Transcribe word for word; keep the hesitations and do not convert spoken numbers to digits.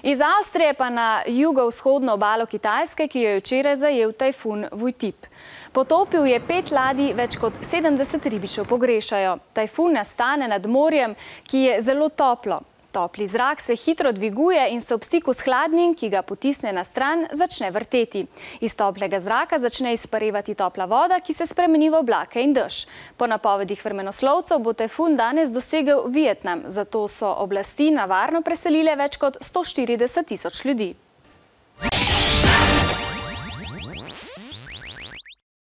Iz Avstrije pa na jugovzhodno obalo Kitajske, ki jo je včeraj zajel tajfun Vojtip. Potopil je pet ladij, več kot sedemdeset ribičev pogrešajo. Tajfun nastane nad morjem, ki je zelo toplo. Topli zrak se hitro dviguje in se ob stiku s hladnim, ki ga potisne na stran, začne vrteti. Iz toplega zraka začne izparevati topla voda, ki se spremeni v oblake in dež. Po napovedih vremenoslovcev bo tajfun danes dosegel Vietnam, zato so oblasti na varno preselile več kot sto štirideset tisoč ljudi.